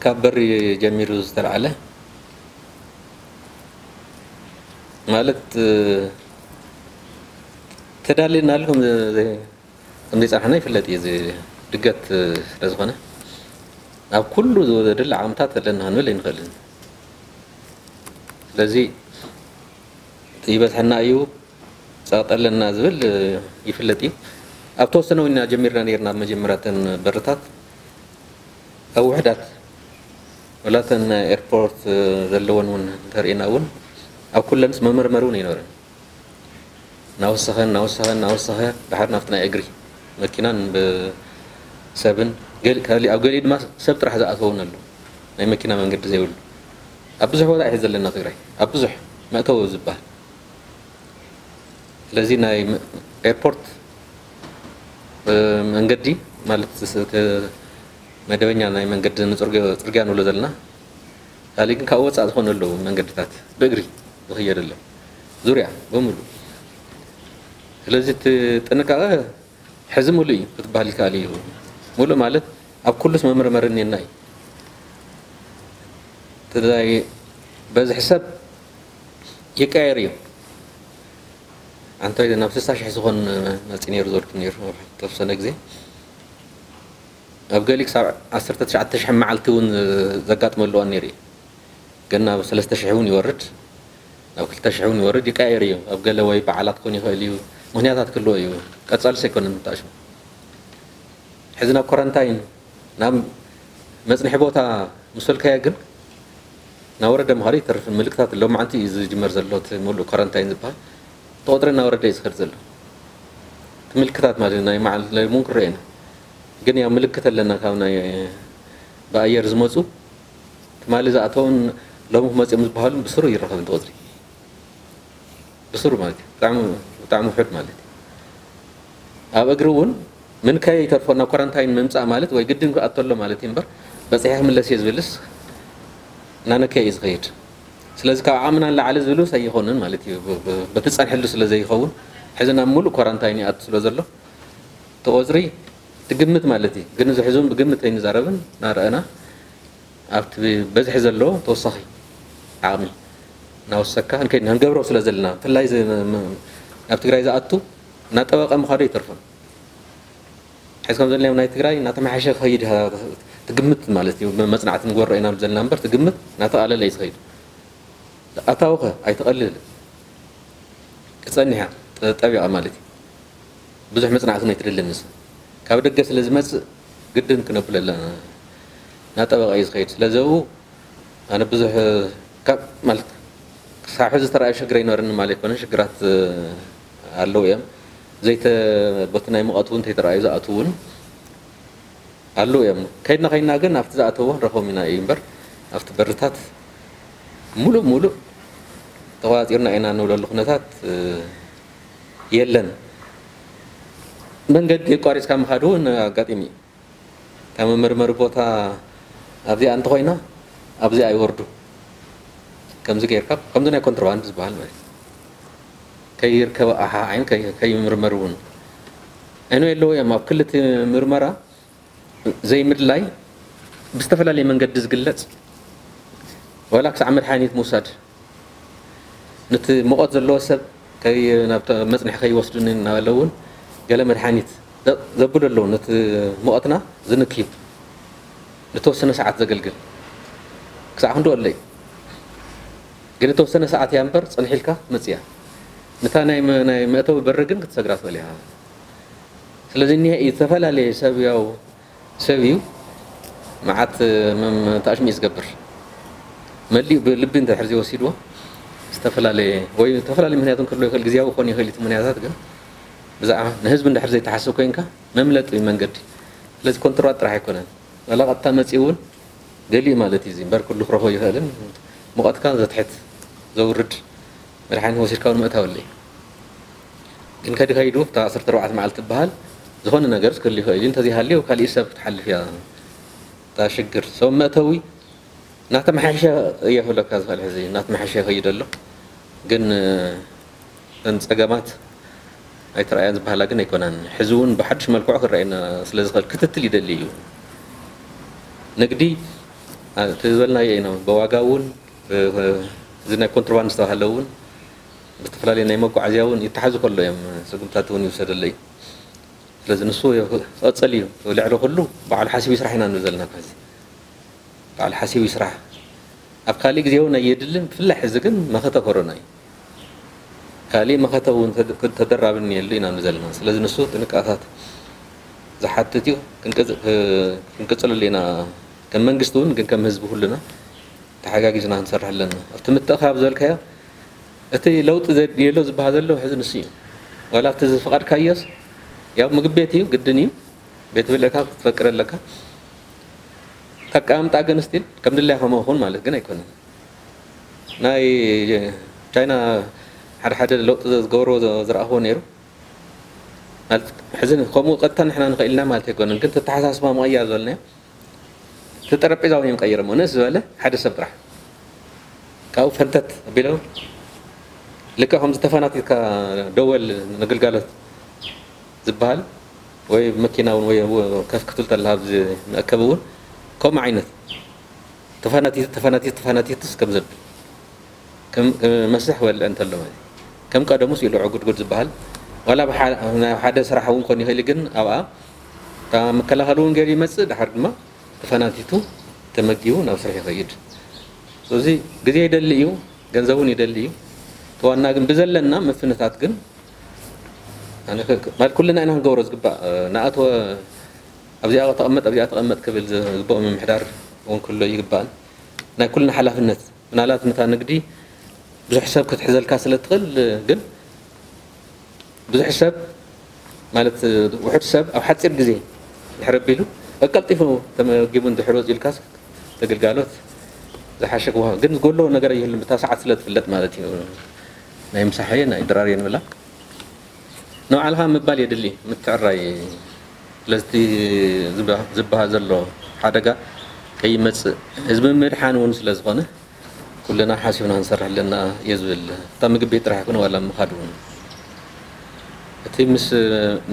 ካብ በሪ ጀሚሩ ዝተልዓለ ማለት ተዳልየናሉ ከምዘይፀናሕና ይፍለጥ እዩ። እዚ ድገት ስለዝኾነ ኣብ ኩሉ ዝወደድል ዓቕምታት ኣለና ክንብል ኣይንኽእልን። ስለዚ ይበዝሐና እዩ፣ ፀቕጠለና ዝብል ይፍለጥ እዩ። ኣብ ተወሰነ እውን ኢና ጀሚርና ነይርና ኣብ መጀመርያተን በርታት ኣብ ውሕዳት ወላተን ኤርፖርት ዘለወን እውን እንተርእና እውን ኣብ ኩለንስ መመርመሪ እውን ኣይነበረን። እናወሰኸ እናወሰኸ እናወሰኸ ድሓር ናብቲ ናይ እግሪ መኪናን ብሰብን ገሊ- ካሊ- ኣብ ገሊኡ ድማ ሰብ ጥራሕ ዝኣተውን ኣሎ፣ ናይ መኪና መንገዲ ዘይብሉ ኣብ ብዙሕ ቦታ ይሕዝ ዘለና ትግራይ ኣብ ብዙሕ መእተዊ ዝበሃል። ስለዚ ናይ ኤርፖርት መንገዲ ማለት መደበኛ ናይ መንገዲ ንፅርግያ ንብሎ ዘለና ካሊእ ግን ካብ ወፃእ ዝኾነ ኣለዉ መንገድታት ብእግሪ ዝኽየደሎም ዙርያ ብምሉ። ስለዚ እቲ ጥንቃቐ ሕዚ ሙሉእ እዩ ክትበሃል ይከኣል እዩ። ሙሉእ ማለት ኣብ ኩሉስ መመርመሪ እኒና እዩ። ትግራይ በዝሒ ሰብ ይቀየር እዩ። ኣንተ ናብ ስሳ ሽሕ ዝኾን መፂ ነይሩ ዘልኩ ነይሩ ተወሰነ ግዜ ኣብ ገሊ ክሳብ ዓሰርተ ትሽዓተ ሽሕ መዓልቲ እውን ዘጋጥመሉ እዋን ነይሩ እዩ። ግን ናብ ሰለስተ ሽሕ እውን ይወርድ ናብ ክልተ ሽሕ እውን ይወርድ ይቀየር እዩ። ኣብ ገለ ወይ በዓላት ክኾን ይኽእል እዩ፣ ምክንያታት ክህልዎ እዩ። ቀፃልስ ኣይኮነን ምታሽሙ። ሕዚ ናብ ኮረንታይን ናብ መፅንሒ ቦታ ምስ ወልካዮ ግን ናብ ወረደ ምኻዱ ይተርፍን ምልክታት ሎማዓንቲ እዩ ዝጅመር ዘሎ እቲ ሙሉእ ኮረንታይን ዝበሃል። እቲ ቁፅሪ እናወረደ እዩ ዝኸድ ዘሎ። እቲ ምልክታት ማለት ናይ መዓል ለይሙን ክረአና ግን ያው ምልክት ኣለና ካብ ናይ ብኣየር ዝመፁ ትማሊ ዝኣተውን ሎሚ ክመፅኦም ዝበሃሉ ብስሩ ይረኸብ እንተ ቁፅሪ ብስሩ ማለት እዩ። ብጣዕሚ ብጣዕሚ ውሑድ ማለት እዩ። ኣብ እግሪ እውን ምንካይ ይተርፎ ናብ ኳራንታይን ምምፃእ ማለት ወይ ግድን ክኣቶ ኣሎ ማለት እዩ እምበር በፂሐ ክምለስ እየ ዝብልስ እናነከየ እዩ ዝኸይድ። ስለዚ ካብ ዓቕምና ንላዕሊ ዝብሉ ኣይኾኑን ማለት እዩ። ብ- ብ- በቲ ፀንሐሉ ስለ ዘይኸውን ሕዚ ናብ ሙሉእ ኳራንታይን ይኣቱ ስለ ዘሎ እቲ ቁፅሪ ትግምት ማለት እዩ። ግን እዚ ሕዚ እውን ብግምት ኣይንዛረብን እናረኣና ኣብቲ በዝሒ ዘሎ ተወሳኺ ዓቕሚ እናወሰካ ንከይድ ንገብሮ ስለ ዘለና ብፍላይ እዚ ም- ም- ናብ ትግራይ ዝኣቱ እናጠበቐ ምዃዱ ኣይተርፎን። ሕዚ ከም ዘለና ናይ ትግራይ እናተመሓሸ ክኸይድ ትግምት ማለት እዩ። መፅናዕቲ ንጎሮ ኢና ዘለና እምበር ትግምት እናተቓለለ እዩ ዝኸይድ። ኣታዊ ኸ ኣይትቐልል ክፀኒሕ እያ ጠ- ጠቢቓ ማለት እዩ። ብዙሕ መፅናዕቲ ናይ ትደሊ ንስ ካብ ደገ ስለ ዝመፅእ ግድን ክነብለላ እናጠበቐ እዩ ዝኸይድ። ስለዚ ኣብኡ ኣነ ብዙሕ ካብ ማለት ክሳብ ሕዚ ዝተረኣየ ሽግር ኣይነበረኒ ማለት ኣይኮነን። ሽግራት ኣለዉ እዮም። ዘይተ ቦቲ ናይ ሙቐት እውን እንተይተረኣዩ ዝኣትዉ እውን ኣለዉ እዮም። ከይድና ከይድና ግን ኣብቲ ዝኣተዎ ንረኽቦም ኢና እዩ እምበር ኣብቲ በርታት ሙሉእ ሙሉእ ተቋፂርና ኢና ንብለሉ ኩነታት የለን። መንገዲ የቋሪፅካ ምኻድ እውን ኣጋጢሙ እዩ። እታ መመርመሪ ቦታ ኣብዚኣ እንተኾይና ኣብዚኣ ይወርዱ። ከምዚ ገይርካ ከምዚ ናይ ኮንትሮባንድ ዝበሃል ማለት እዩ። ከይርከበ ኣሓ ዓይን ከይ- ከይምርመር እውን እኖ የለዎ እዮም። ኣብ ክልቲ ምርመራ ዘይምድላይ ብዝተፈላለየ መንገዲ ዝግለፅ ዋላ ክሳዕ መድሓኒት ምውሳድ ነቲ ሙቐት ዘለዎ ሰብ ከይ- ናብ ተ- መፅንሒ ከይወስዱኒ እናበለ እውን ገለ መድሓኒት ዘ- ዘብሉ ኣለዉ። ነቲ ሙቐትና ዝንክዩ ንተወሰነ ሰዓት ዘገልግል ክሳዕ ክንድኡ ኣለዩ። ግን እተወሰነ ሰዓት እያ እምበር ፅንሕ ኢልካ መፅያ ነታ ናይ መ- ናይ መእተዊ በሪ ግን ክትሰግራ ትኽእል ኢኻ። ስለዚ እኒሀ እዩ ዝተፈላለየ ሰብ ያው ሰብ እዩ መዓት መም- ታሽሙ እዩ ዝገብር። መሊኡ ብልቢ እንተ ሕርዚ ወሲድዎ ዝተፈላለየ ወይ ዝተፈላለየ ምክንያት ክህልዎ ይኽእል፣ ግዜያዊ ክኾን ይኽእል እቲ ምክንያታት ግን ብዛዕባ ንህዝቢ እንድሕር ዘይተሓስብ ኮይንካ መምለጢ መንገዲ። ስለዚ ኮንትሮባት ጥራሕ ኣይኮነን ዋላ ቀጥታ መፂኡ እውን ገሊኡ ማለት እዩ እምበር ኩሉ ክረኽቦ ይኽእልን ሙቐትካ ዘትሕት ዘውርድ መድሓኒት ወሲድካ እውን ምእታው ኣለዩ። ግን ከዲ ከይዱ እታ ዓሰርተ ኣርባዕተ መዓልቲ ትበሃል ዝኾነ ነገር ክህሉ ይኽእል እዩ። እንተዘይሃልዩ ካሊእ ሰብ ክትሓልፍ እያ እታ ሽግር። ሰብ መእተዊ እናተመሓየሸ እየ ክብለካ ዝኽእል ሕዚ እናተመሓየሸ ይኸይድ ኣሎ። ግን እተን ፀገማት ኣይተረኣያን ዝበሃላ ግን ኣይኮናን። ሕዚ እውን ብሓድሽ መልክዑ ክረኣየና ስለ ዝኽእል ክትትል ይደሊ እዩ። ንግዲ እቲ ዝበልናዮ ኢና። ብዋጋ እውን፣ ብ-፣ እዚ ናይ ኮንትሮባንድ ዝተባህለ እውን፣ ብዝተፈላለየ ናይ መጓዓዝያ እውን ይተሓዙ ከሎ እዮም፣ ስጉምታት እውን ይውሰደለ እዩ። ስለዚ ንሱ ክቐጽል እዩ። ልዕሊ ኩሉ ባዕሉ ሓሲቡ ይስራሕ ኢና ንብል ዘለና። ከዚ ባዕሉ ሓሲቡ ይስራሕ። ኣብ ካሊእ ግዜ እውን ኣየድልን፣ ብፍላይ ሕዚ ግን መኸተ ኮሮና እዩ። ካሊእ መኸተ እውን ተድ-፣ ተደራቢ እኒኤሉ ኢና ንብል ዘለና። ስለዚ ንሱ ጥንቃታት ዝሓትት እዩ። ክንቅጽ-፣ ክንቅጽለሉ ኢና። ከም መንግስቲ እውን ግን ከም ህዝቢ ኩልና ተሓጋጊዝና ክንሰርሕ ኣለና። ኣብቲ ምትእኻብ ዝበልካዮ፣ እቲ ለውጢ ዘድልየሎ ዝበሃል ዘሎ ሕዚ ንሱ እዩ። ዋላ ኣብቲ ዝፈቐድካዮስ፣ ያው ምግቢ ቤት እዩ፣ ግድን እዩ። ቤት ብልዕካ ክትፈቅድ ኣለካ። ኣቀማምጣ ግን ስቲል ከም ድላይካ መኹን ማለት ግን ኣይኮነን። ናይ ቻይና ሓደ ሓደ ለውጢ ዝገብርዎ ዝ-፣ ዝረኣኽዎ ነይሩ። ማለት ሕዚ ከምኡ ቀጥታ ንሕና ንኽእል ኢና ማለት ኣይኮነን፣ ግን ተተሓሳስባ ምቕያር ዝበልናዮ፣ እቲ ጠረጴዛ እውን እዮም ቀይሮሞ። ንእስ ዝበለ ሓደ ሰብ ጥራሕ ካብኡ ፈንተት ኣቢሎም፣ ልክዕ ከምዚ ተፈናቲትካ ደወል ንግልጋሎት ዝበሃል፣ ወይ መኪና እውን ወይ ከፍ ክትብል ተለካ ኣብዚ መእከቢ እውን ከምኡ ዓይነት ተፈናቲት፣ ተፈናቲት፣ ተፈናቲትስ ከም ዘብል ከም፣ ከም መስርሕ ክበልዕ እንተሎ ማለት እዩ። ከም ቀደሙስ ኢሉ ዕጉድጉድ ዝበሃል ዋላ ብሓ-፣ ናብ ሓደ ስራሕ እውን ክኾን ይኽእል እዩ፣ ግን ኣብኣ እታ መከላኸሊ እውን ገይሩ ይመጽእ፣ ድሓር ድማ ተፈናቲቱ ተመጊቡ ናብ ስራሕ ይኸይድ። ስለዚ ግዜ ይደሊ እዩ፣ ገንዘብ እውን ይደሊ እዩ። እቲ ዋና ግን ብዘለና መፍትነታት ግን ኣነ ከ-፣ ማለት ኩልና ኢና ክንገብሮ ዝግባእ። ንኣተወ ኣብዚኣ ተቐመጥ፣ ኣብዚኣ ተቐመጥ ክብል ዝግብኦ ምምሕዳር እውን ክህሉ ይግባእን ናይ ኩልና ሓላፍነት። ምናልባት ነታ ንግዲ ብዙሕ ሰብ ክትሕዘልካ ስለ ትኽእል፣ ግን ብዙሕ ሰብ ማለት ውሑድ ሰብ ኣብ ሓፂር ግዜ ድሕር ኣቢሉ ቀልጢፉ ተመጊቡ እንድሕር ወፂኡ ኢልካስ ተግልጋሎት ዝሓሸ ክወሃብ፣ ግን ዝጎሎ ነገር ኣይህሉን፣ ብታ ሰዓት ስለ ትፍለጥ ማለት እዩ። ናይ ምሳሐየ ናይ ድራርየ ንብላ ንባዕልኻ ምባል የድሊ፣ ምትዕራይ። ስለዚ እቲ ዝበ-፣ ዝበሃል ዘሎ ሓደጋ ከይመጽእ ህዝቢ ምድሓን እውን ስለ ዝኾነ ኩልና ሓሲብና ክንሰርሕ ኣለና እየ ዝብል። እታ ምግቢ ቤት ጥራሕ ኣይኮነ ዋላ ምኻድ እውን። እቲ ምስ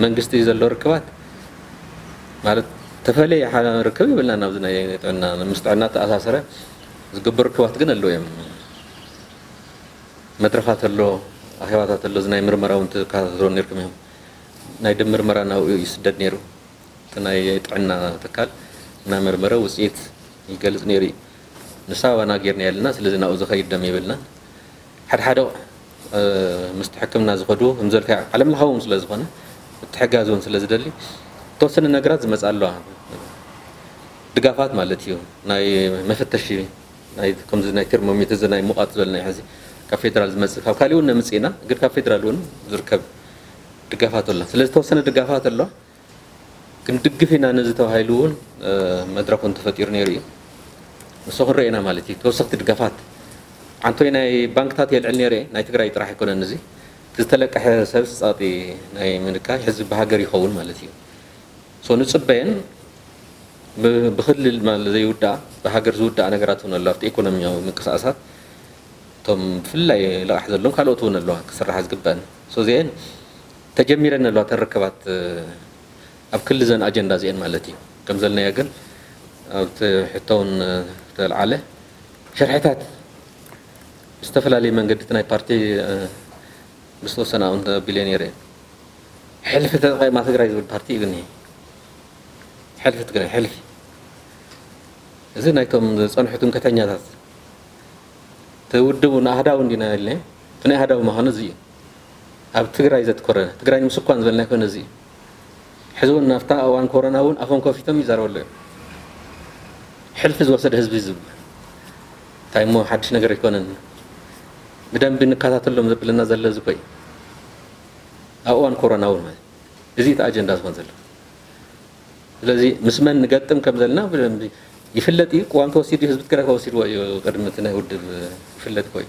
መንግስቲ ዘሎ ርክባት ማለት ተፈለየ ሓ-፣ ርክብ የብልናን ኣብዚ ናይ ጥዕና፣ ምስ ጥዕና ተኣሳሰረ ዝግበር ርክባት ግን ኣለዉ እዮም። መድረኻት ኣሎ፣ ኣኼባታት ኣሎ፣ እዚ ናይ ምርመራ እውን ትከታተልዎ ነይርኩም እዮም። ናይ ደም ምርመራ ናብኡ ይስደድ ነይሩ። እቲ ናይ ጥዕና ትካል እናመርመረ ውፅኢት ይገልፅ ነይሩ እዩ። ንሳ ኣባና ጌርና የለና፣ ስለዚ ናብኡ ዝኸይድ ደም የብልናን። ሓደ ሓደ፣ እ፣ ምስቲ ሕክምና ዝኸዱ፣ ከም ዘልካ ዓለም ለኻዊ እውን ስለ ዝኾነ፣ ምትሕጋዝ እውን ስለ ዝደሊ፣ ዝተወሰነ ነገራት ዝመፅእ ኣለዋ። ድጋፋት ማለት እዩ። ናይ መፈተሺ፣ ናይ ከምዚ ናይ ቴርሞሜትር፣ እዚ ናይ ሙቐት ዝበልና እዩ። ሕዚ ካብ ፌደራል ዝመፅእ፣ ካብ ካሊእ እውን ነምፅእ ኢና፣ ግን ካብ ፌደራል እውን ዝርከብ ድጋፋት ኣሎ። ስለ ዝተወሰነ ድጋፋት ኣሎ፣ ክንድግፍ ኢና ነዚ ተባሂሉ እውን፣ እ፣ መድረኽ እውን ተፈጢሩ ነይሩ እዩ። ንሱ ክንርኢ ኢና ማለት እዩ። ተወሰኽቲ ድጋፋት፣ ዓንቶይ ናይ ባንክታት የልዕል ነይረ፣ ናይ ትግራይ ጥራሕ ኣይኮነን። እዚ ዝተለቀሐ ሰብ ፃጢ ናይ ምንካይ ህዝቢ ብሃገር ይኸውን ማለት እዩ። ሶ ንፅበየን ብ-፣ ብክልል ማለት ዘይውዳእ፣ ብሃገር ዝውዳእ ነገራት እውን ኣሎ። ኣብቲ ኢኮኖሚያዊ ምንቅስቃሳት እቶም ብፍላይ ልቓሕ ዘለዎም ካልኦት እውን ኣለዋ ክስራሓ ዝግበአን። ሶ እዚአን ተጀሚረን ኣለዋ ተን ርክባት፣ እ፣ ኣብ ክሊ ዘን ኣጀንዳ እዚአን ማለት እዩ። ከም ዘልናዮ ግን ኣብቲ ሕቶ እውን፣ እ፣ ተልዓለ ሸርሕታት ብዝተፈላለየ መንገዲ እቲ ናይ ፓርቲ፣ እ፣ ምስ ተወሰነ ኣውንት ኣቢለ ነይረ። ሕልፊ ተጠቒማ ትግራይ ዝብል ፓርቲ እዩ ግን። ሕልፊ ትግራይ፣ ሕልፊ። እዚ ናይቶም ዝጸንሑ ትምክሕተኛታት። እቲ ውድብ እውን ኣህዳዊ እንዲና ኢልና፣ እቲ ናይ ኣህዳዊ ምዃኑ እዚ እዩ። ኣብ ትግራይ ዘትኮረ፣ ትግራይ ንምስኳን ዝበልና ኣይኮነ እዚ እዩ። ሕዚ እውን ናብታ እዋን ኮሮና እውን ኣፎም ከፊቶም ይዛረበሉ እዮም። ሕልፊ ዝወሰደ ህዝቢ እዩ ዝብል። እንታይ እሞ ሓድሽ ነገር ኣይኮነን። ብደንቢ ንከታተሎም ዘብለና ዘሎ እዚ እኮ እዩ። ኣብ እዋን ኮሮና እውን ማለት እዚ እቲ ኣጀንዳ ዝኾን ዘሎ። ስለዚ ምስ መን ንገጥም ከም ዘለና ብደንቢ ይፍለጥ እዩ። ቅዋም ተወሲዱ፣ ህዝቢ ትግራይ ከወሲድዎ እዩ። ቅድሚ እቲ ናይ ውድብ ይፍለጥ እኮ እዩ።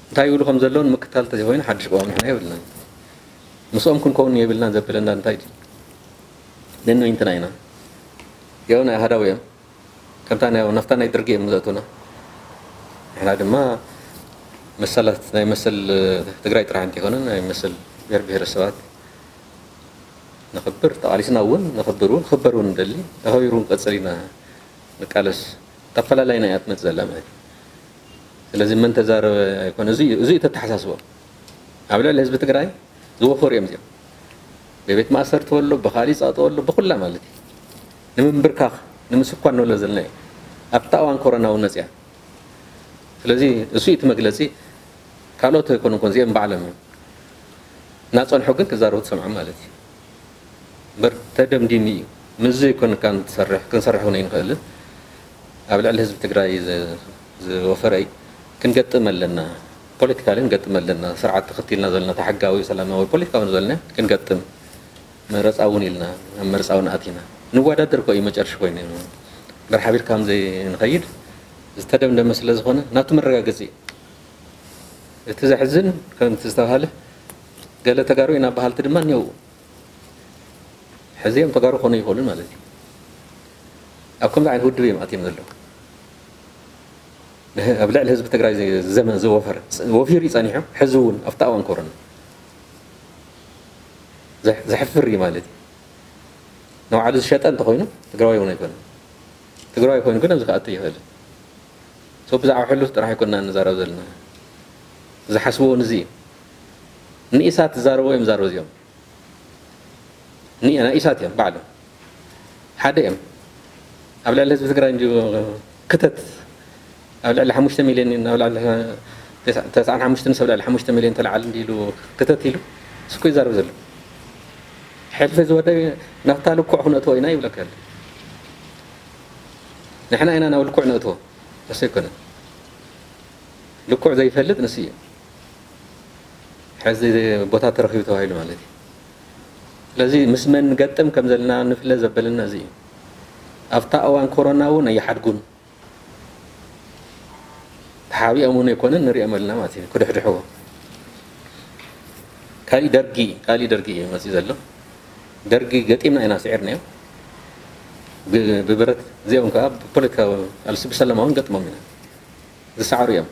እንታይ ይብሉ ከም ዘለዉ ንምክታል እንተዘይኮይኑ ሓድሽ ቅዋም ንሕና የብልናን። ምስኦም ክንከውን የብልናን ዘብለና እንታይ ድዩ? ነንወይንትና ኢና። ያው ናይ ኣሃዳዊ እዮም። ከምታ ናይ፣ ናፍታ ናይ ደርጊ እዮም ዘእቱና። ንሕና ድማ መሰላት፣ ናይ መሰል ትግራይ ጥራሕ እንተይኮነ ናይ መሰል ብሔር ብሔረሰባት ነኽብር፣ ተቓሊስና እውን ነኽብር እውን፣ ክኽበር እውን ንደሊ፣ ተኸቢሩ ክንቀጽል ኢና ንቃለስ። ኣፈላላይና እያ ትመጽእ ዘላ ማለት እዩ። ስለዚ መን ተዛረበ ኣይኮነ፣ እዚ እዩ፣ እዚ እዩ ተተሓሳስቦ። ኣብ ልዕሊ ህዝቢ ትግራይ ዝወፈሩ እዮም እዚኦም። ብቤት ማእሰርቲ ወሎ፣ ብኻሊእ ጸቕጢ ወሎ፣ ብኹላ ማለት እዩ። ንምንብርካኽ፣ ንምስኳን ንብሎ ዘለና እዩ። ኣብታ እዋን ኮሮና እውን መጽያ። ስለዚ እሱ እዩ እቲ መግለጺ። ካልኦት ኣይኮኑን እኮ፣ እዚኦም ባዕሎም እዮም። እናጸንሑ ግን ክዛረቡ ትሰምዖም ማለት እዩ። እምበር ተደምዲሙ እዩ። ምስ ዘይኮንካ ንትሰርሕ፣ ክንሰርሕ እውን ኣይንኽእልን። ኣብ ልዕሊ ህዝቢ ትግራይ ዝ-፣ ዝወፈረ እዩ። ክንገጥም ኣለና። ፖለቲካሊ ክንገጥም ኣለና። ስርዓት ተኸቲልና ዘለና፣ እቲ ሕጋዊ፣ ሰላማዊ፣ ፖለቲካዊ ዘለና ክንገጥም። መረፃ እውን ኢልና፣ ኣብ መረፃ እውን ኣቲና። ንወዳደር እኮ እዩ መጨረሻ ኮይኑ። እምበር ሓቢርካ ከም ዘይንኸይድ ዝተደምደመ ስለ ዝኾነ፣ ናቱ መረጋገፂ እዩ። እቲ ዘሕዝን፣ ከምቲ ዝተባሃለ፣ ገለ ተጋሩ ኢና በሃልቲ ድማ እኒአው። ሕዚ እዮም ተጋሩ ክኾኑ ይኽእሉን ማለት እዩ። ኣብ ከምዚ ዓይነት ውድብ እዮም ኣትዮም ዘለዉ። ኣብ ልዕሊ ህዝቢ ትግራይ ዘ-፣ ዘመን ዝወፈረ፣ ወፊሩ እዩ ጸኒሑ፣ ሕዚ እውን ኣብቲ እዋን ኮሮና ዘ-፣ ዘሕፍር እዩ ማለት እዩ። ንባዕሉ ዝሸጠ እንተኾይኑ ትግራዋይ እውን ኣይኮነን። ትግራዋይ ኮይኑ ግን ኣብዚ ክኣቱ ይኽእል። So ብዛዕባ ሕሉፍ ጥራሕ ኣይኮንና ንዛረብ ዘለና። ዝሓስብዎ ንዚ እዩ። ንኢሳት ዝዛረብዎ እዮም ዝዛረቡ እዚኦም። ኒ-፣ ናይ ኢሳት እዮም ባዕሎም። ሓደ እዮም። ኣብ ልዕሊ ህዝቢ ትግራይ እንዲሁ ክተት፣ ኣብ ልዕሊ ሓሙሽተ ሚልዮን፣ ኣብ ልዕሊ ተስዓ-፣ ተስዓን ሓሙሽተን ሰብ ልዕሊ ሓሙሽተ ሚልዮን ተለዓል እንዲሉ ክተት ኢሉ፣ እስኩ ይዛረብ ዘሎ። ሕልፊ ዝወደ ናብታ ልኩዕ ክነእትዎ ኢና ይብለካ ኣሎ። ንሕና ኢና ናብ ልኩዕ ነእትዎ፣ እሱ ኣይኮነን። ልኩዕ ዘይፈልጥ ንሱ እዩ። ሕዚ ቦታ ተረኺቡ ተባሂሉ ማለት እዩ። ስለዚ ምስ መን ንገጥም ከም ዘለና ንፍለ ዘበለና እዚ እዩ። ኣብታ እዋን ኮሮና እውን ኣይሓድጉን። ተሓቢኦም እውን ኣይኮነን፣ ንሪኦም ኣለና ማለት እዩ። ክድሕድሕዎ። ካሊእ ደርጊ፣ ካሊእ ደርጊ እዩ መፂኡ ዘሎ። ደርጊ ገጢምና ኢና ስዒርናዮ። ብ-፣ ብብረት፣ እዚኦም ከዓ ብፖለቲካዊ ቃልሲ ብሰላማዊ ንገጥሞም ኢና። ዝሰዓሩ እዮም።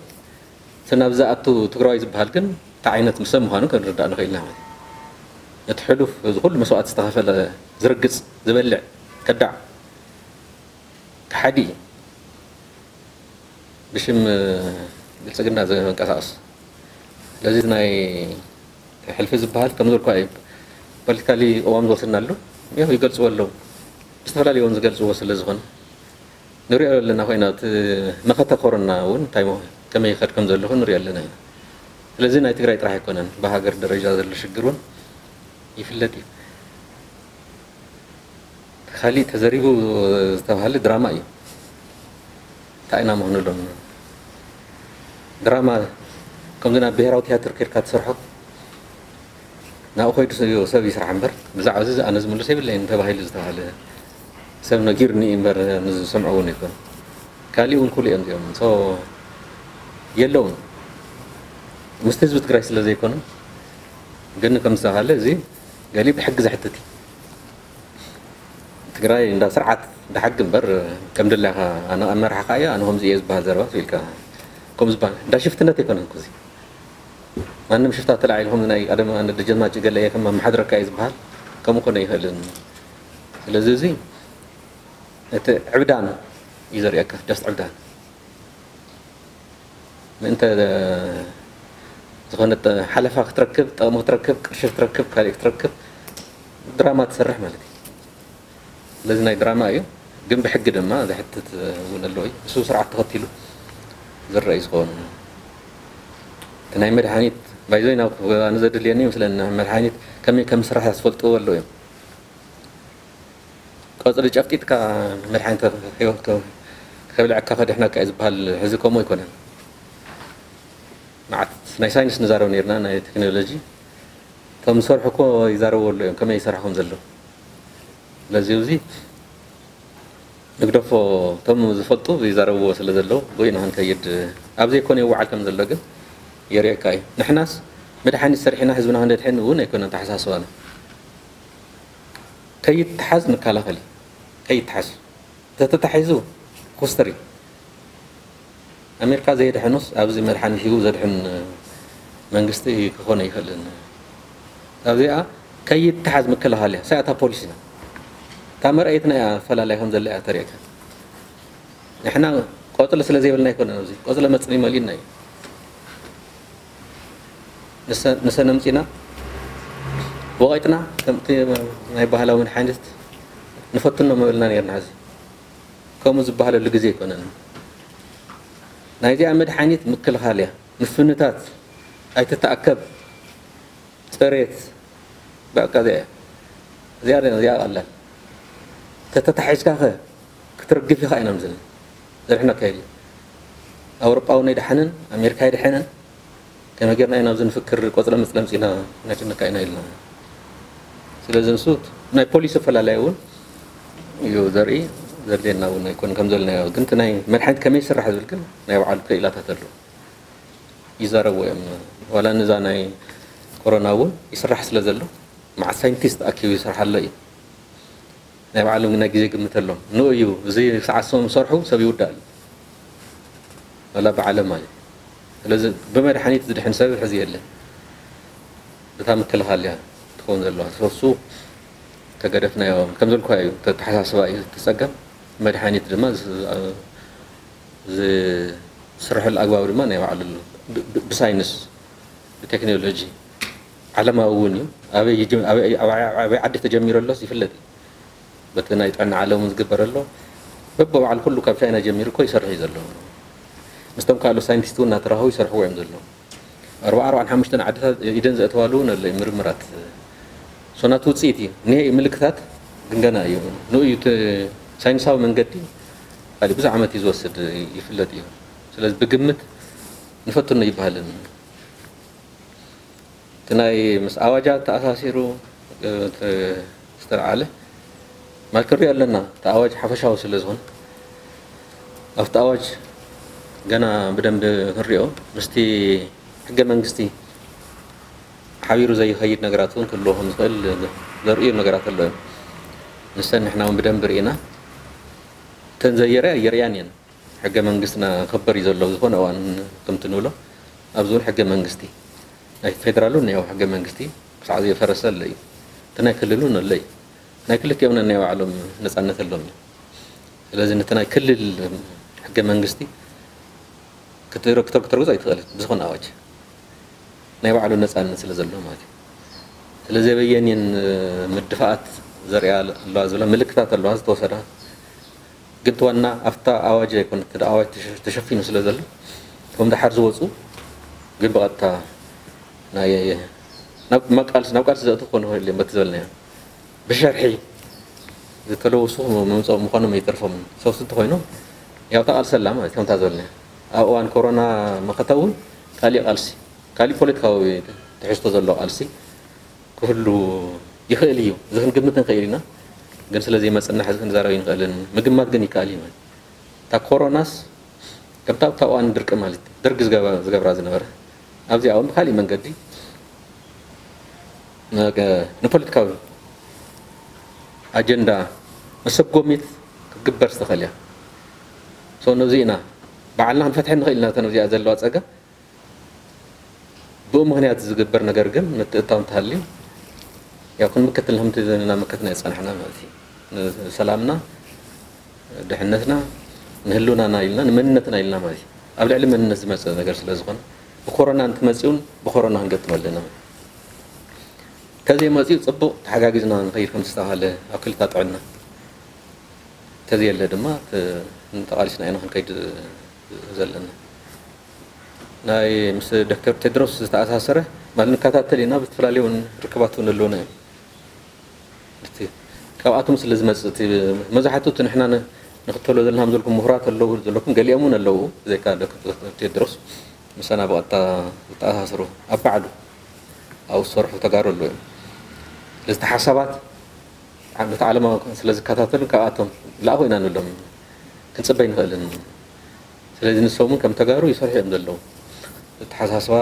እቲ ናብ ዝኣቱ ትግራዋይ ዝበሃል ግን እንታይ ዓይነት ሰብ ምዃኑ ክንርዳእ ንኽእል ኢና ማለት እዩ። እቲ ሕሉፍ እዚ ኩሉ መስዋእቲ ዝተኸፈለ ዝርግጽ፣ ዝበልዕ፣ ከዳዕ፣ ከሓዲ እዩ። ብሽም ብልጽግና ዝንቀሳቐስ። ስለዚ ናይ ሕልፊ ዝበሃል ከም ዝበልኩ እዩ። ፖለቲካሊ ቅዋም ዝወሰድናሉ፣ ያው ይገልጽዎ ኣለዉ። ብዝተፈላለዩ እውን ዝገልጽዎ ስለ ዝኾነ። ንሪኦ ኣለና ኮይና፣ እቲ መኸተ ኮሮና እውን እንታይ ምኾ-፣ ከመይ ይኸድ ከም ዘሎ ንሪኦ ኣለና ኢና። ስለዚ ናይ ትግራይ ጥራሕ ኣይኮነን፣ ብሃገር ደረጃ ዘሎ ሽግር እውን ይፍለጥ እዩ። ካሊእ ተዘሪቡ ዝተባሃለ ድራማ እዩ። እንታይ ኢና ምኾነሎም? ድራማ ከምዚ ናብ ብሄራዊ ትያትር ከድካ ትሰርሖ፣ ናብኡ ከይዱ ሰብ፣ ሰብ ይስራሕ እምበር፣ ብዛዕባ እዚ ኣነ ዝምልሶ የብለይን ተባሂሉ ዝተባሃለ ሰብ ነጊሩኒ እምበር፣ ንዝሰምዖ እውን ኣይኮነ። ካሊእ እውን ኩሉ እዮም እዚኦም። So፣ የለውን። ምስቲ ህዝቢ ትግራይ ስለ ዘይኮኑ፣ ግን ከም ዝተባሃለ እዚ ገሊኡ ብሕጊ ዘሕትት እዩ። ትግራይ እንዳ ስርዓት፣ እንዳ ሕጊ እምበር፣ ከም ደላኻ ኣነ ኣመራሓኻ እየ፣ ኣነ ከምዚ እየ ዝበሃል ዘረባ ኢልካ፣ ከምኡ ዝበሃል እንዳ ሽፍትነት ኣይኮነን እኮ እዚ። ማንም ሽፍታ ተላዒሉ ከምዚ ናይ ቀደም ኣነ ደጀን ማጭ ገለ እየ ከም ኣመሓድረካ እየ ዝበሃል፣ ከምኡ ኮነ ኣይኽእልን። ስለዚ እዚ እቲ ዕብዳን እዩ ዘርእየካ፣ just ዕብዳን። ምእንተ ዝኾነ ጠ-፣ ሓለፋ ክትረክብ፣ ጠቕሚ ክትረክብ፣ ቅርሺ ክትረክብ፣ ካልእ ክትረክብ፣ ድራማ ትሰርሕ ማለት እዩ። ስለዚ ናይ ድራማ እዩ፣ ግን ብሕጊ ድማ ዘሕትት እውን ኣለዎ እዩ። እሱ ስርዓት ተኸቲሉ ዝረአ እዩ ዝኸውን። እቲ ናይ መድሃኒት፣ ባይዞይ ናብ ኣነ ዘድልየኒ ይመስለኒ፣ መድሃኒት ከመይ ከም ዝስራሕ ዝፈልጥዎ ኣለዉ እዮም። ቆጽሊ ጨፍጢጥካ መድሓኒት ከ-፣ ከ-፣ ከብልዐካ ከድሕነካ እዩ ዝበሃል። ሕዚ ከምኡ ኣይኮነን። መዓት ናይ ሳይንስ ንዛረብ ነርና፣ ናይ ቴክኖሎጂ። እቶም ዝሰርሑ እኮ ይዛረቡ ኣለዉ እዮም፣ ከመይ ይሰርሑ ከም ዘለዉ። ስለዚ እዚ ንግደፎ፣ እቶም ዝፈልጡ ይዛረብዎ ስለ ዘለዉ፣ ብኡ ኢና ክንከይድ፣ ኣብ ዘይኮነ ይወዓል ከም ዘሎ ግን የርእየካ እዩ። ንሕናስ መድሓኒት ሰሪሕና ህዝብና ክንደድሕን እውን ኣይኮነን ተሓሳስባና። ከይትሓዝ ንከላኸል እዩ። ከይትሓዝ። ተተታሒዙ ኮስተር እዩ። ኣሜሪካ ዘየድሐኖስ ኣብዚ መድሓኒት ሂቡ ዘድሕን መንግስቲ ክኾን ኣይኽእልን። ኣብዚኣ ከይትሓዝ ምክልኻል እያ። ሳያታ ፖሊሲና። እታ መርኣየትና እያ ኣፈላላይ ከም ዘላ እያ ተርእየካ። ንሕና ቆጽሊ ስለ ዘይብልና ኣይኮነን፣ ኣብዚ ቆጽሊ መጽኒ መሊእና እዩ። ንሰ- ንሰን ኣምጺና ወቒጥና፣ ከምቲ ናይ ባህላዊ መድሓኒት ንፈትኖ ምበልና ነርና። ሕዚ ከምኡ ዝበሃለሉ ግዜ ኣይኮነን። ናይዚኣ መድሓኒት ምክልኻል እያ። ምፍንታት፣ ኣይትተኣከብ፣ ጽሬት፣ በቃ እዚኣ እያ። እዚኣ እዚኣ ቀላል። ተተታሒዝካ ኸ ክትርግፍ ኢኻ ኢና ምዝን ዘርሕና ካይድ። ኣውሮጳ እውን ኣይደሓነን፣ ኣሜሪካ ኣይደሓነን። ከመይ ጌርና ኢና ኣብዚ ንፍክር ቆጽለ መጽለ ኣምጺና ነጨንቃ ኢና ኢልና። ስለዚ ንሱ ናይ ፖሊሲ ኣፈላላይ እውን እዩ ዘርኢ። ዘድልየና እውን ኣይኮን ከም ዘለናዮ፣ ግን እቲ ናይ መድሓኒት ከመይ ይስራሕ ዝብል ግን ናይ ባዕሉ ክኢላታት ኣሎ። ይዛረቡ እዮም። ዋላ ንዛ ናይ ኮሮና እውን ይስራሕ ስለ ዘሎ፣ መዓት ሳይንቲስት ኣኪቡ ይሰርሓ ኣሎ እዩ። ናይ ባዕሎም ናይ ግዜ ግምት ኣሎም። ንኡ እዩ፣ እዚ ሰዓት ሰም ሰርሑ ሰብ ይውዳእ ኣሎ። ዋላ ብዓለም ማለት እዩ። ስለዚ ብመድሓኒት ዝድሕን ሰብ ሕዚ የለን። እታ ምክልኻል እያ ትኸውን ዘለዋ። ሰሱ ተገደፍናዮ ከም ዘልኳ እዩ፣ ተተሓሳስባ እዩ እቲ ጸገም። መድሓኒት ድማ ዝ- ዝስርሐሉ ኣግባብ ድማ ናይ ባዕሉ ኣሎ። ብ- ብ- ብሳይንስ፣ ብቴክኖሎጂ፣ ዓለማዊ እውን እዩ። ኣበይ ይጅ- ኣበይ ኣበይ ኣበይ ዓዲ ተጀሚሩ ኣሎስ ይፍለጥ እዩ። በቲ ናይ ጥዕና ዓለም እውን ዝግበር ኣሎ። በብባዕሉ ኩሉ ካብ ቻይና ጀሚሩ እኮ ይሰርሕ እዩ ዘሎ። ምስቶም ካልኦት ሳይንቲስት እውን እናተራኸቡ ይሰርሕዎ እዮም ዘለዉ። ኣርባዓ ኣርባዓን ሓሙሽተን ዓድታት ኢደን ዘእተዋሉ እውን ኣሎ እዩ ምርምራት። ሶናት ውፅኢት እዩ። እኒሀ እዩ ምልክታት ግን ገና እዩ። ንኡ እዩ እቲ ሳይንሳዊ መንገዲ ካሊእ ብዙሕ ዓመት እዩ ዝወስድ ይፍለጥ እዩ። ስለዚ ብግምት ንፈትኖ ይበሃልን። እቲ ናይ ምስ ኣዋጃት ተኣሳሲሩ ዝተልዓለ ማለት ክንሪኦ ኣለና። እቲ ኣዋጅ ሓፈሻዊ ስለ ዝኾነ ኣብቲ ኣዋጅ ገና ብደንብ ክንሪኦ ምስቲ ሕገ መንግስቲ ሓቢሩ ዘይኸይድ ነገራት እውን ክህልዎ ከም ዝኽእል ዘርእዩ ነገራት ኣሎ እዮም። ንሰን ንሕና እውን ብደንብ ርኢና እተን ዘየርያ የርእያን እየን። ሕገ መንግስትና ክኽበር እዩ ዘሎ። ዝኾነ እዋን ከምቲ ንብሎ ኣብዚ እውን ሕገ መንግስቲ ናይ ፌደራል እውን ያው ሕገ መንግስቲ ክሳዕ ዘይፈረሰ ኣሎ እዩ። እቲ ናይ ክልል እውን ኣሎ እዩ። ናይ ክልቲኦም ናይ ባዕሎም ነፃነት ኣሎም እዩ። ስለዚ ነቲ ናይ ክልል ሕገ መንግስቲ ክትረግቶ ክትረግጾ ኣይትኽእልን ብዝኾነ ኣዋጅ ናይ ባዕሉ ነፃነት ስለ ዘሎ ማለት እዩ። ስለዚ በየንየን ምድፋኣት ዘርእያ ኣለዋ ዝብላ ምልክታት ኣለዋ ዝተወሰዳ ግን እቲ ዋና ኣብታ ኣዋጅ ኣይኮነ እቲ ኣዋጅ ተሸ- ተሸፊኑ ስለ ዘሎ እቶም ደሓር ዝወፁ ግን ብቐጥታ ናይ ናብ ናብ ቃልሲ ናብ ቃልሲ ዘእቱ ክኾኑ ይኽእል እዮም በቲ ዝበልናዮ ብሸርሒ ዝተለወሱ መምፀኦም ምዃኖም ኣይተርፎምን ሰውስ እንተኮይኖም ያው ተቃልሰላ ማለት ከምታ ዝበልናዮ ኣብ እዋን ኮሮና መኸተ እውን ካሊእ ቃልሲ ካሊእ ፖለቲካዊ ትሕዝቶ ዘለዎ ቃልሲ ክህሉ ይኽእል እዩ። እዚ ክንግምት ንኽእል ኢና፣ ግን ስለ ዘይመጽና ሕዚ ክንዛረብ ኣይንኽእልን። ምግማት ግን ይከኣል እዩ ማለት እታ ኮሮናስ ከምታ ኣብታ እዋን ድርቂ ማለት ደርጊ ዝገበ- ዝገብራ ዝነበረ ኣብዚኣ እውን ብካሊእ መንገዲ ነገ- ንፖለቲካዊ ኣጀንዳ መሰጎሚት ክትግበር ዝተኽእል እያ። ሶ ነዚ ኢና ባዕልና ክንፈትሐ ንኽእል ኢና እተን ኣብዚኣ ዘለዋ ጸገም ብኡ ምኽንያት ዝግበር ነገር ግን ምትእታው እንተሃልዩ ያው ክንምክት ከምቲ እናመከትና ዝጸናሕና ማለት እዩ። ንሰላምና፣ ድሕነትና፣ ንህልውናና ኢልና ንመንነትና ኢልና ማለት እዩ። ኣብ ልዕሊ መንነት ዝመጽእ ነገር ስለ ዝኾነ ብኮሮና እንትመጽኡን ብኮሮና ክንገጥም ኣለና ማለት እዩ። ተዘይመጽኡ ጽቡቕ ተሓጋጊዝና ንኸይድ ከም ዝተባሃለ ኣብ ክልታ ጥዕና ተዘየለ ድማ ተ- ተቓሊስና ኢና ክንከይድ ዘለና። ናይ ምስ ዶክተር ቴድሮስ ዝተኣሳሰረ ማለት ንከታተል ኢና ብዝተፈላለዩ እውን ርክባት እውን ኣለውና እዮም። እቲ ካብኣቶም ስለ ዝመፅእ እቲ መብዛሕትኡ እቲ ንሕና ን- ንኽተሎ ዘለና ከም ዘለኩም ምሁራት ኣለዉ ዘለኩም ገሊኦም እውን ኣለዉ ዘይካ ዶክተር ቴድሮስ ምሳና ብቐጥታ ዝተኣሳሰሩ ኣብ ባዕሉ ኣብኡ ዝሰርሑ ተጋሩ ኣለዉ እዮም። ስለዚ እቲ ሓሳባት ነቲ ዓለማዊ ስለ ዝከታተሉ ካብኣቶም ላእኹ ኢና ንብሎም ክንፅበ ኣይንኽእልን። ስለዚ ንሶም እውን ከም ተጋሩ ይሰርሑ እዮም ዘለዉ። ኣተሓሳስባ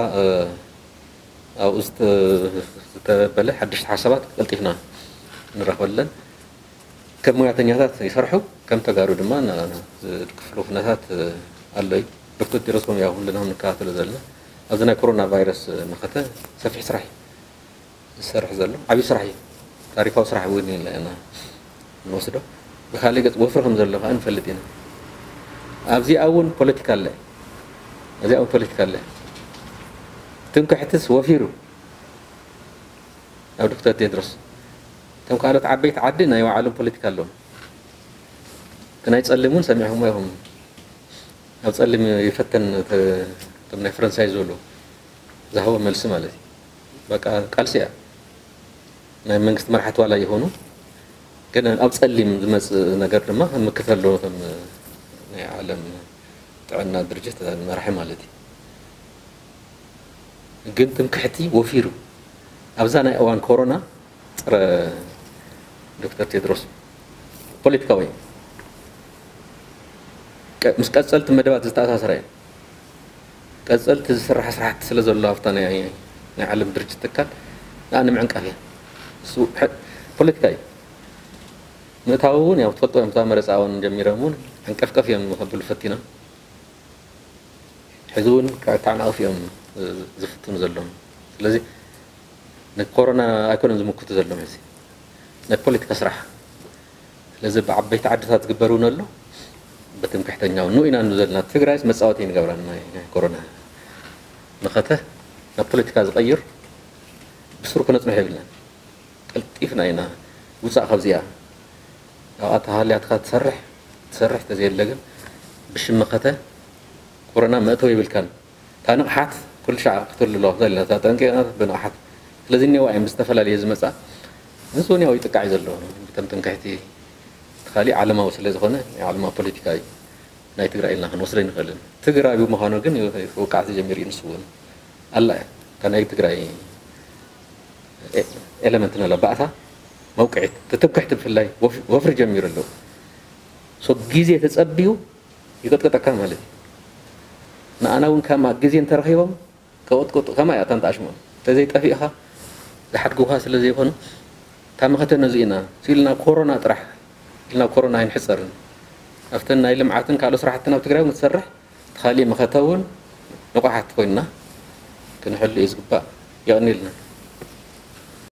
ኣብኡ ዝተበለ ሓደሽቲ ሓሳባት ቀልጢፍና ንራኸበለን ከም ሙያተኛታት ይሰርሑ ከም ተጋሩ ድማ ዝድክፍሉ ኩነታት ኣሎ እዩ። ዶክተር ቴድሮስ ከም ያው ኩልና ንከታተሎ ዘለና ኣብዚ ናይ ኮሮና ቫይረስ መኸተ ሰፊሕ ስራሕ እዩ ዝሰርሕ ዘሎ ዓብዪ ስራሕ እዩ። ታሪካዊ ስራሕ እውን ኢና ንወስዶ። ብካሊእ ገፅ ወፍሪ ከም ዘሎ ከዓ ንፈልጥ ኢና። ኣብዚኣ እውን ፖለቲካ ኣለ። ኣብዚኣ እውን ፖለቲካ ኣለ። ትምክሕትስ ወፊሩ ኣብ ዶክተር ቴድሮስ። እቶም ካልኦት ዓበይቲ ዓዲ ናይ ባዕሎም ፖለቲካ ኣለዎም። እቲ ናይ ጸሊም እውን ሰሚዕኹምዎ ኢኹም። ኣብ ጸሊም ይፈተን፣ እቶም ናይ ፈረንሳይ ዝበሉ ዝሃቦ መልሲ ማለት እዩ። በቃ ቃልሲ እያ። ናይ መንግስቲ መራሕቲ ዋላ ይኾኑ፣ ግን ኣብ ጸሊም ዝመጽእ ነገር ድማ ምክት ኣለዎ። ከም ናይ ዓለም ጥዕና ድርጅት መራሒ ማለት እዩ። ግን ትምክሕቲ ወፊሩ ኣብዛ ናይ እዋን ኮሮና ጸረ ዶክተር ቴድሮስ ፖለቲካዊ እዩ። ቀ- ምስ ቀጸልቲ መደባት ዝተኣሳሰረ እዩ። ቀጸልቲ ዝስራሕ ስራሕቲ ስለ ዘሎ ኣብታ ናይ ናይ ዓለም ድርጅት ትካል ንኣ ንምዕንቃፍ እያ። እሱ ሐ- ፖለቲካ እዩ። ምእታዊ እውን ያው ትፈልጦ እዮም። እታ መረፃ እውን ጀሚሮም እውን ዕንቀፍቀፍ እዮም ከብሉ ፈቲኖም። ሕዚ እውን ክዕታዕናቕፍ እዮም ዝፍትኑ ዘለዉ። ስለዚ ንኮሮና ኣይኮነን ዝምክቱ ዘለዉ ሕዚ ናይ ፖለቲካ ስራሕ። ስለዚ ብዓበይቲ ዓድታት ዝግበር እውን ኣሎ። ብትምክሕተኛ እውን ንኡ ኢና ንብሉ ዘለና። ትግራይስ መፃወቲ ይንገብራ ናይ ናይ ኮሮና መኸተ ናብ ፖለቲካ ዝቐይር ብስሩ ክነፅንሖ የብልናን። ቀልጢፍና ኢና ውፃእ ካብዚኣ። ኣብኣ ተሃልያትካ ትሰርሕ ትሰርሕ ተዘየለ ግን ብሽም መኸተ ኮሮና መእተዊ የብልካን። እታ ንቕሓት ኩሉ ሻዕ ክትህሉ ኣለዋ። እዛ እታ ጠንቂ ብንቕሓት ስለዚ እኒአዋ እየን ብዝተፈላለየ ዝመፃ። ንሱ እውን ያው ይጥቃዕ እዩ ዘሎ ብተም ትምክሕቲ። እቲ ካሊእ ዓለማዊ ስለ ዝኾነ ናይ ዓለማዊ ፖለቲካ እዩ። ናይ ትግራይ ኢልና ክንወስዶ ኣይንኽእልን። ትግራይ ብምዃኑ ግን ክውቃዕ ተጀሚሩ እዩ። ንሱ እውን ኣላ እያ። እታ ናይ ትግራይ ኤ- ኤለመንት ንላ ባእታ መውቅዒት ትትምክሕቲ ብፍላይ ወፍ- ወፍሪ ጀሚሩ ኣለዉ። ሶ ግዜ ተጸብዩ ይቀጥቀጠካ ማለት እዩ። ንኣና እውን ከማ ግዜ እንተረኺቦም ከቐጥቅጡ ከማ እያ እታ ንጣሽሞም እንተዘይጠፊእኻ ዝሓድጉኻ ስለ ዘይኮኑ እታ መኸተ ነዚ ኢና ሲልና ኮሮና ጥራሕ ኢልና ኮሮና ኣይንሕጸርን ኣብተን ናይ ልምዓትን ካልኦ ስራሕትን ኣብ ትግራይ እውን ትሰርሕ እቲ ካሊእ መኸተ እውን ንቑሓት ኮይንና ክንሕሉ እዩ ዝግባእ። የቐንየልና።